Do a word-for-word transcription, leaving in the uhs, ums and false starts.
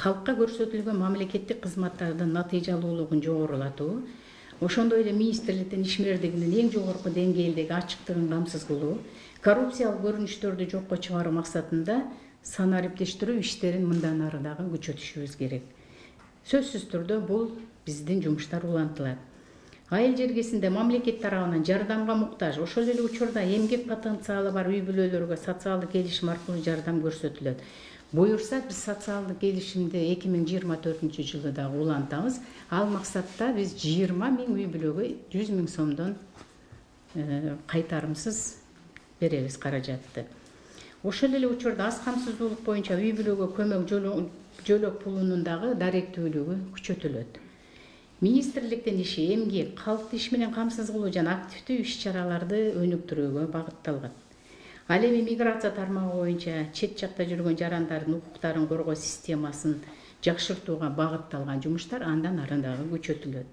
калкка көрсөтүлгөн мамлекеттик кызматтардын натыйжалуулугун жогорулатуу, ошондой эле министрликтин ишмердигинин эң жогорку деңгээлдеги ачыктыгын камсыз кылуу, коррупциялык көрүнүштөрдү жокко чыгаруу максатында санариптештирүү иштерин мындан ары дагы күчөтүшүбүз керек. Сөзсүз түрдө бул биздин жумуштар улантылат. Айыл жергесинде мамлекет тарабынан жардамга муктаж, ошол эле учурда эмгек потенциалы бар үй бүлөлөргө социалдык келишим аркылуу жардам көрсөтүлөт. Буюрса, биз социалдык келишимди эки миң жыйырма төртүнчү жылы дагы улантабыз. Ал максатта биз жыйырма миң үй бүлөгө жүз миң сомдон кайтарымсыз беребиз каражатты. Ошол эле учурда аз камсыздуулук боюнча үй бүлөгө көмөк жөлөк пулунун дагы даректүүлүгү күчөтүлөт. Министрликтин иши эмгек, калкты иш менен камсыз кылуу жана активдүү иш-чараларды өнүктүрүүгө багытталган. Ал эми миграция тармагы боюнча чет жакта жүргөн жарандардын укуктарын коргоо системасын жакшыртууга багытталган жумуштар андан ары дагы күчөтүлөт.